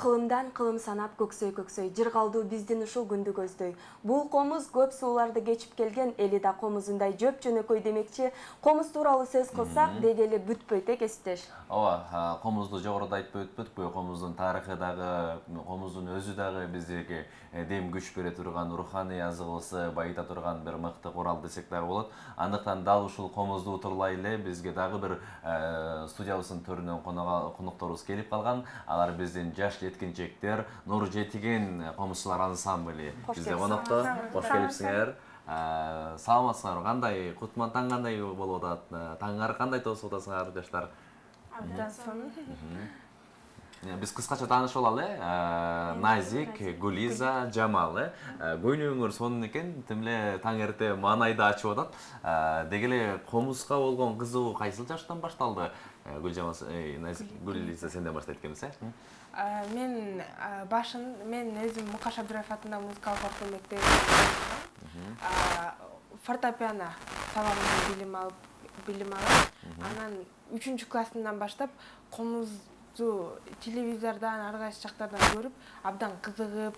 Кылымдан кылым санап көксөй жыргалдуу биздин ушул күндү көздөй. Бул комуз көп сууларды кечип келген эли да комузундай жөп жөнөкөй демекчи. Комуз тууралуу сөз кылсак деги эле бүтпөйт кесиптеш. Ооба, комузду жогоруда айтпай өтпөдүкпү? Комуздун тарыхы дагы, комуздун өзү дагы бизге дем күч бере турган, руханий азыгыбызды байыта турган бир мыкты курал десек дагы болот. Андыктан дал ушул комузду утурлай эле бизге дагы бир студиябыздын төрүнөн конокторубуз келип калган. Алар биздин жаш жеткинчектер Нур Жетиген комузчулар ансамблі бизде конокто. Кош келипсиңер. Саламатсыңарбы? Кандай кутман таң кандай болуп атат? Таңыңар кандай тосуп атасыңар жаштар? Абдан сонун. Биз кыскача таанышып алалы. Назик, Гулиза, Жамал. Көйнөгүңөр сонун экен. Тим эле таң эрте маанайды ачып атат. Деги эле комузга болгон кызыгуу кайсыл жаштан башталды? Гулиза сенден баштайт экенбиз, Мен өзүм Мукаш Абдыраев атындагы музыкалык окуу мектебинде фортепиано сабагында билим алып, анан 3-классымдан баштап комузду телевизордон, ар кайсы жактардан көрүп, абдан кызыгып,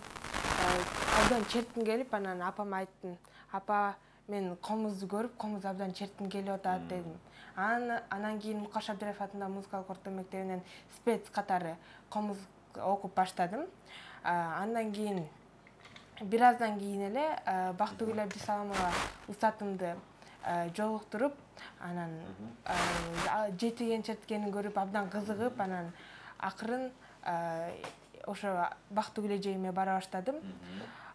абдан чертким келип, анан апама айттым. Апа, мен комузду көрүп, комуз абдан чертким келип атат дедим. Анан кийин Мукаш Абдыраев атындагы музыкалык орто мектебинен спец катары комуз окуп баштадым. Андан кийин бир аздан кийин эле Бактыгүл Абдисаламова устатымды жолуктуруп, анан жетиген черткенин көрүп абдан кызыгып, анан акырын ошо Бактыгүл эжеиме бара баштадым.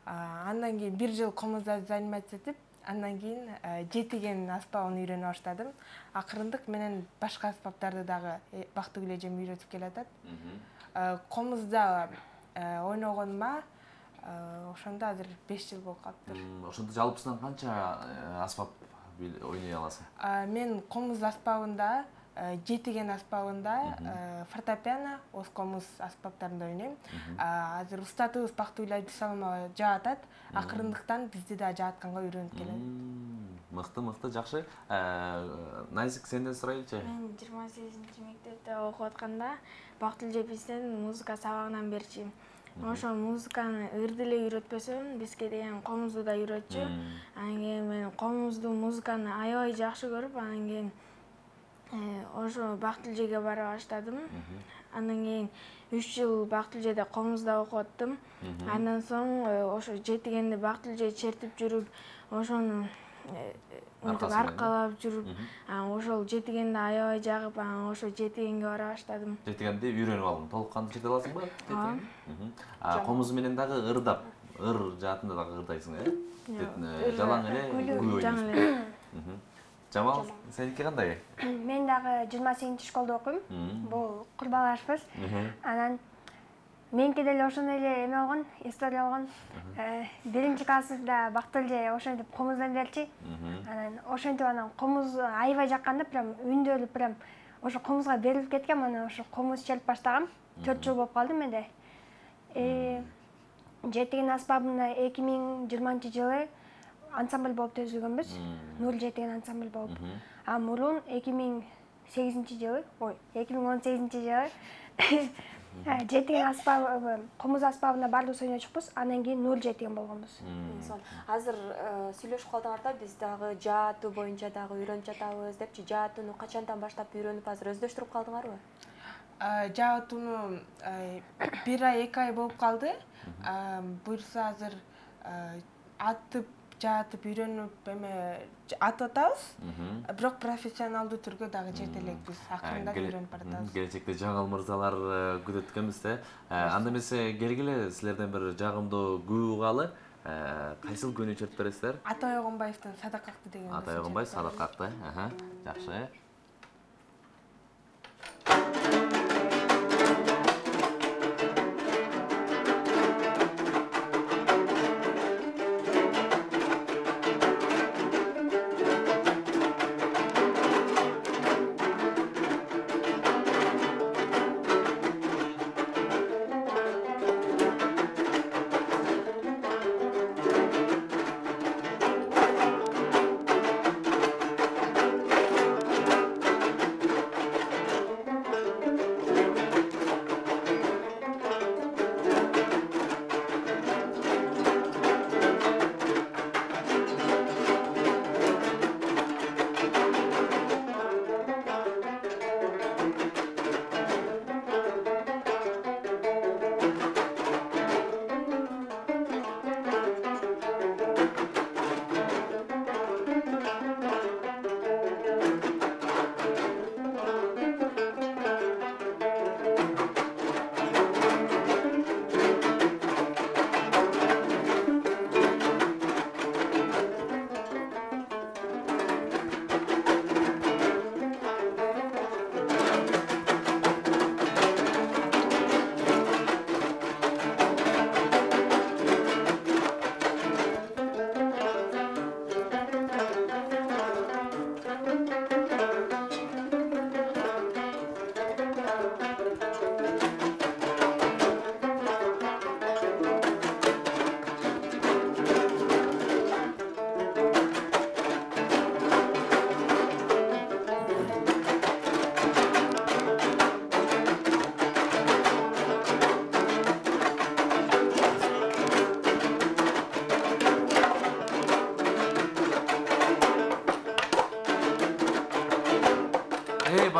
Андан кийин бир жыл комузда заниматься этип, андан кийин жетиген аспабын үйрөнө баштадым. Акырындык менен башка аспаптарды дагы Бактыгүл эжем үйрөтүп келатат. Комузда ойногонума ошондо азыр 5 жыл болуп калыптыр. Ошондо жалпысынан канча аспап ойной аласың? Мен комуз аспабында, жетиген аспабында, фортепиано, оз комуз аспаптарында ойнойм. Азыр устатыбыз Бактыгүл Абдисаламова жаатат. Акырындыктан бизди да жаатканга үйрөнүп келет. Мыкты, жакшы. Назик, сенден сурайлычы? Мен 28-мектепте окуп атканда Бактыгүл эже бизден музыка сабагынан берчү. Ошо музыканы ырды эле үйрөтпөсөм, бизге деген комузду да үйрөтчү. Анан кийин мен комузду, музыканы аябай жакшы көрүп, анан кийин ошо Бактыгүл эжеге бара баштадым. Андан кийин 3 жыл Бактыгүл эжеде комузда окуп аттым. Андан соң ошо жетигенди Бактыгүл эже чертип жүрүп, ошону аркалап жүрүп, ошол жетигенди аябай жагып, ошо жетигенге бара баштадым. Жетигенди үйрөнүп алдым. Толук кандуу черте аласыңбы? Комуз менен дагы ырдап, ыр жаатында дагы ырдайсың, жалаң эле күй ойнойсуң. Жамал, сеники кандай? Мен дагы 28 школда окуйм. Бул курбалашпыз. Анан меники деле ошондой эле эме болгон, история болгон. 1-классыбызда Бактыгүл эже ошентип комуздан берчи. Анан ошентип анан комуз аябай жакканда, прям үндөлүп, прям ошо комузга берилип кеткем. Анан ошо комуз чалып баштагам. 4 жыл болуп калды менде. Жетиген аспабында 2020-жылы ансамбль болуп түзүлгөнбүз. Нур Жетиген ансамбль болуп. Мурун 2018-жылы жетиген аспабы, комуз аспабында баардыгыбыз ойночукпуз. Андан кийин Нур Жетиген болгонбуз. Азыр сүйлөшүп калдыңарда, биз дагы жаатуу боюнча дагы үйрөнүп жатабыз депчи. Жаатууну качандан баштап үйрөнүп азыр өздөштүрүп калдыңарбы? Жаатууну 1 ай, 2 ай болуп калды. Буюрса азыр атып, жаатып үйрөнүп атып атабыз. Бирок профессионалдуу түргө дагы чет элекпиз. Акырындап үйрөнүп баратабыз. Келечекте жаңыл мырзалар күтөт экенбиз да. Анда эмесе келгиле силерден бир жагымдуу күү угалы. Кайсыл күүнү чертип бересиздер? Атай Огонбаевдин Садакакты деген. Атай Огонбаев Садакакты. Жакшы.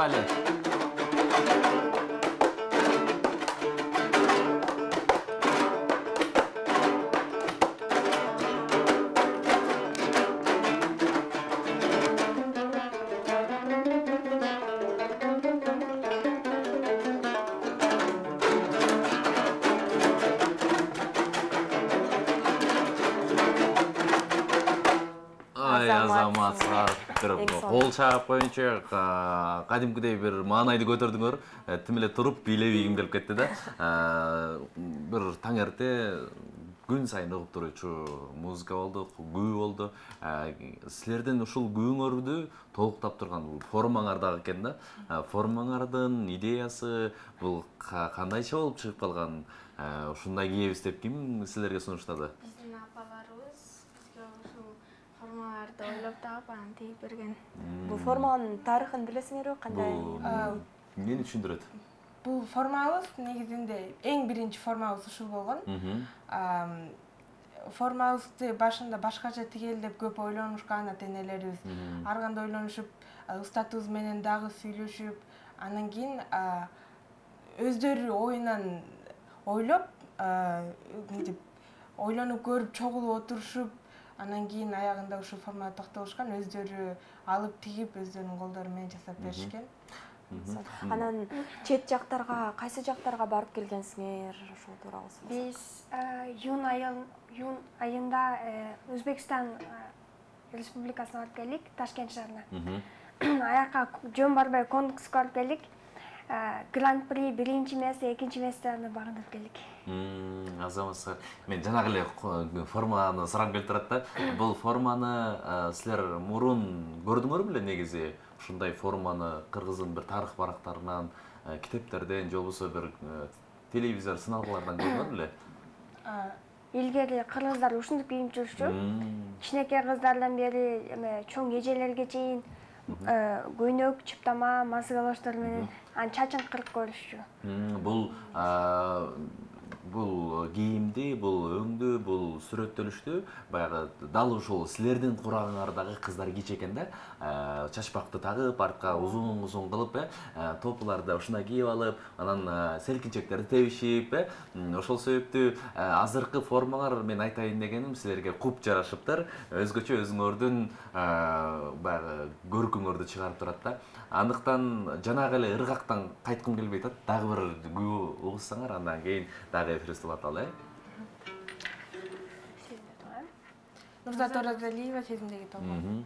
Поехали! Азаматсыздар бир кол чаап коюнчу кадимкидей бир маанайды көтөрдүңөр. Тим эле туруп бийлебейгим келип кетти да. Бир таң эрте күн сайын угуп туруучу музыка болду, күү болду. Силердин ушул күүңөрдү толуктап турган формаңар дагы экен да. Формаңардын идеясы бул кандайча болуп чыгып калган? Ушундай кийебиз деп ким силерге сунуштады? Биздин апаларыбыз бизге ушул формаларды ойлоп таап анан тигип берген. Бул форманын тарыхын билесиңерби? Кандай? Мени түшүндүрөт. Бул формабыз негизинде эң биринчи формабыз ушул болгон. Формабызды башында башкача тигели деп көп ойлонушкан ата-энелерибиз. Ар кандай ойлонушуп, устатыбыз менен дагы сүйлөшүп, анан кийин өздөрү оюнан ойлоп, ойлонуп көрүп, чогулуп отурушуп, анан кийин аягында ушул формада токтолушкан, өздөрү алып тигип, өздөрүнүн колдору менен жасап беришкен. Анан чет жактарга, кайсы жактарга барып келгенсиңер? Ошол тууралуу сөз. Биз июнь айында Өзбекстан Республикасына барып келдик, Ташкент шаарына. Аяка жөн барбай конкурска барып келдик. Гран-при биринчи эмес, экинчи эместерди багындырып келдик. Азаматсыздар, мен жанагы эле форманы сурап келип турат да. Бул форманы силер мурун көрдүңөр беле негизи? Ушундай форманы кыргыздын бир тарых барактарынан, китептерден, же болбосо бир телевизор сыналгылардан көрдүңөр беле? Илгери кыргыздар ушундук кийип жүрчү. Кичинекей кыздардан бери чоң эжелерге чейин көйнөк, чыптама, мазы калоштор менен чачын кырып көрүшчү. Бул кийимди, бул өңдү, бул сүрөттөлүштү баягы дал ушул силердин курагыңардагы кыздар кийчү экен да. Чачпакты тагып, артка узун кылып, топуларды ушундай кийип алып, анан селкинчектерди тебишип, ошол себептүү азыркы формаңар мен айтайын дегеним силерге куп жарашыптыр. Өзгөчө өзүңөрдүн баягы көркүңөрдү чыгарып турат да. Андыктан жанагы эле ыргактан кайткым келбей атат. Дагы бир күү угуссаңар, андан кийин дагы эфирди улаталы. Нурзат Оразалиева сезимдеги толгон.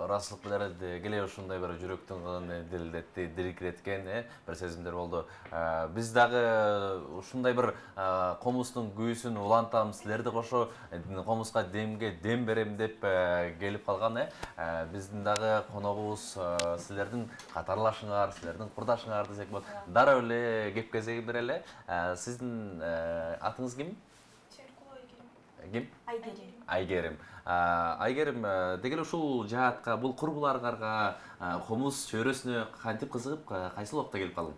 ырастылык менен келе ушундай бир жүрөктүн кылын диркиреткен бир сезимдер болду. Биз дагы ушундай бир комуздун күйүүсүн улантабыз, силерди кошо комузга демге дем берем деп келип калган. Биздин дагы коногубуз силердин катарлашыңар, силердин курдашыңар десек болот. Дароо эле кеп кезеги берели. Сиздин атыңыз ким? Ким? Айгерим. Айгерим, дегеле ушул жаатка, бул курбуларга, комуз чөйрөсүнө кантип кызыгып, кайсыл убакта келип калдың?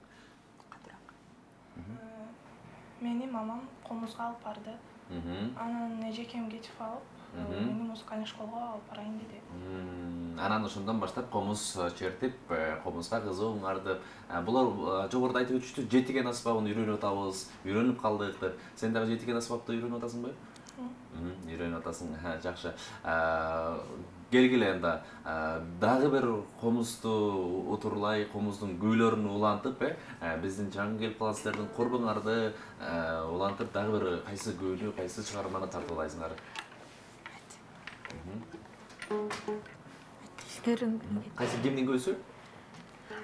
Мени мамам комузга алып барды. Анан эжекем кетип алып, мени музыкальный школго алып барайын деди. Анан ошондон баштап комуз чертип, комузга кызыгыңарды. Булар жогоруда айтып өтүштү, жетиген аспабын үйрөнүп атабыз, үйрөнүп калдык деп. Сен дагы жетиген аспапты үйрөнүп атасыңбы? Үйрөнүп атасың, жакшы. Келгиле анда дагы бир комузду утурлай, комуздун күүлөрүн улантып, биздин жаңы келип калган силердин курбуңарды улантып, дагы бир кайсы күүнү, кайсы чыгарманы тартуулайсыңар? Кайсы кимдин күүсү?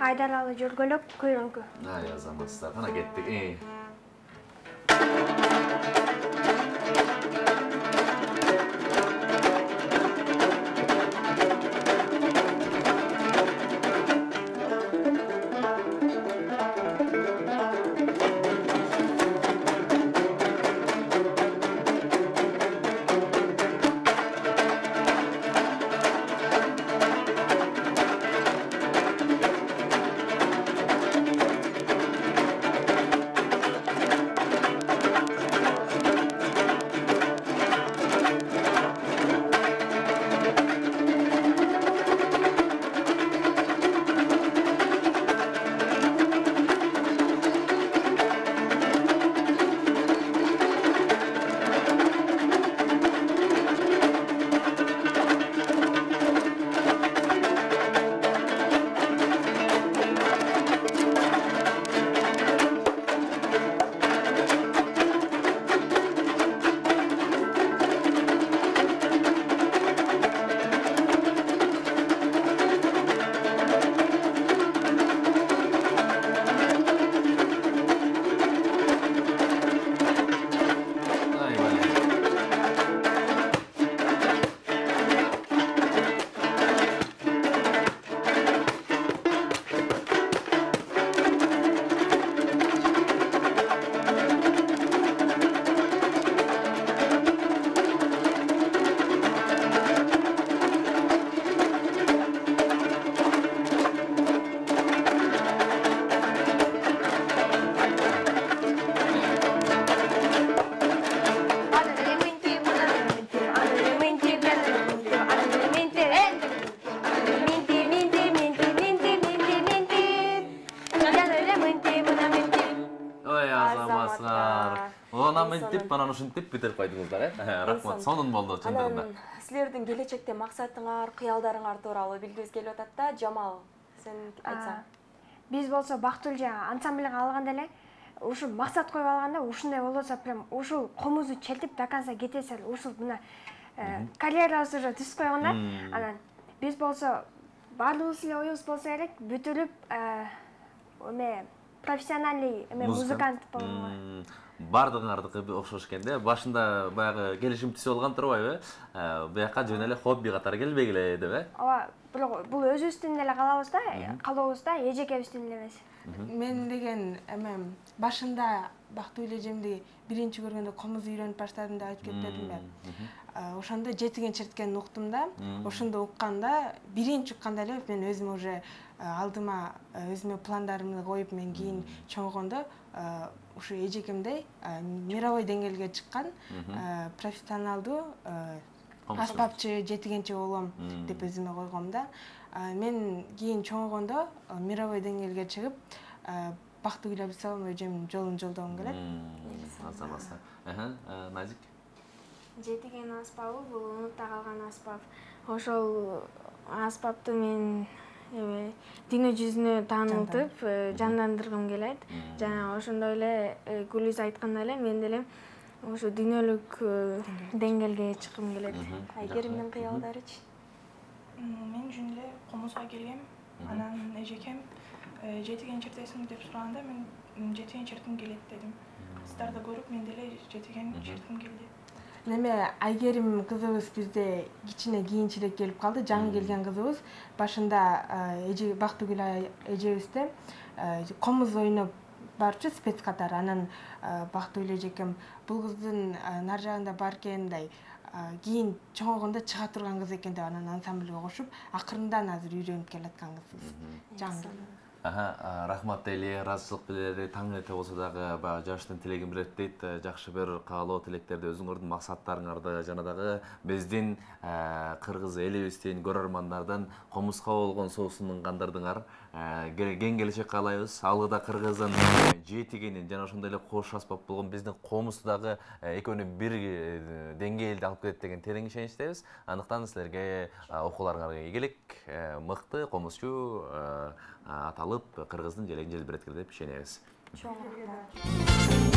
Айдаралы жөргөлөк көйрөңкү. Азаматсыздар, кана кеттик. Мынтип, анан ушинтип бүтүп койдуңуздар, рахмат. Сонун болду чындыгында. Силердин келечекте максатыңар, кыялдарыңар тууралуу билгибиз келип атат да. Жамал, сен айтсаң. Биз болсо Бактыл жана ансамбльга алганда эле ушул максат коюп алганда, ушундай болсо прям ушул комузду чертип до конца кетесе, ушул мына карьерабыз уже түзүп койгон да. Анан биз болсо баардыгыбыз эле оюбуз болсо керек, бүтүрүп профессиональный музыкант болууга. Бардыңардыкы окшош экен да. Башында баягы келишим түзүп алган турбайбы? Буяка жөн эле хобби катары келбегиле деп, Ооба, бирок бул өзүбүздүн эле калабыз да, калообуз да, эжекебиздин эле эмес. Мен деген башында Бактуу эжемди биринчи көргөндө комуз үйрөнүп баштадым деп айтып кетпедимби? Ошондо жетиген черткенин уктум да. Ошондо укканда, биринчи укканда эле мен өзүм уже алдыма өзүмө пландарымды коюп, мен кийин чоңойгондо ушу эжекемдей мировой деңгээлге чыккан профессионалдуу аспапчы, жетигенчи болом деп өзүмө койгом да. Мен кийин чоңойгондо мировой деңгээлге чыгып, Бактуу Абдисалам эжемдин жолун жолдогум келет. Азаматсыздар. Назик. Жетиген аспабы бул унутта калган аспап. Ошол аспапты мен дүйнө жүзүнө таанылтып, жандандыргым келет. Жана ошондой эле Гүлүз айткандай эле мен деле ошо дүйнөлүк деңгээлге чыккым келет. Айгеримдин кыялдарычы? Мен жүн эле комузга келгем. Анан эжекем жетиген чертесиң деп сураганда мен жетиген чертким келет дедим. Кыздарды көрүп мен деле жетиген чертким келди. Неме Айгерим кызыбыз бизде кичине кийинчерээк келип калды. Жаңы келген кызыбыз башында эже Бактыгүл эжебизде комуз ойноп барчу спец катары. Анан Бактыгүл эжекем бул кыздын нар жагында бар экен мындай кийин чоңойгондо чыга турган кыз экен деп анан ансамбльге кошуп, акырындан азыр үйрөнүп келаткан кызбыз. Жаңы. Рахмат дейли, ыраазычылык билдирели, таң эрте болсо дагы баягы жаштын тилегин билет дейт. Жакшы бир каалоо тилектерди, өзүңөрдүн максаттарыңарды жана дагы биздин кыргыз элибиздин көрөрмандардын комузга болгон соосун кандырдыңар. Кең келечек каалайбыз. Алыда кыргыздын жетигенин жана ошондой эле кош аспап болгон биздин комузду дагы экөөнү бир деңгээлде алып келет деген терең ишеничтебиз. Андыктан силерге окууларыңарга ийгилик, мыкты комузчу аталып кыргыздын желегин желбиреткиле деп ишенебиз. Чоң рахмат.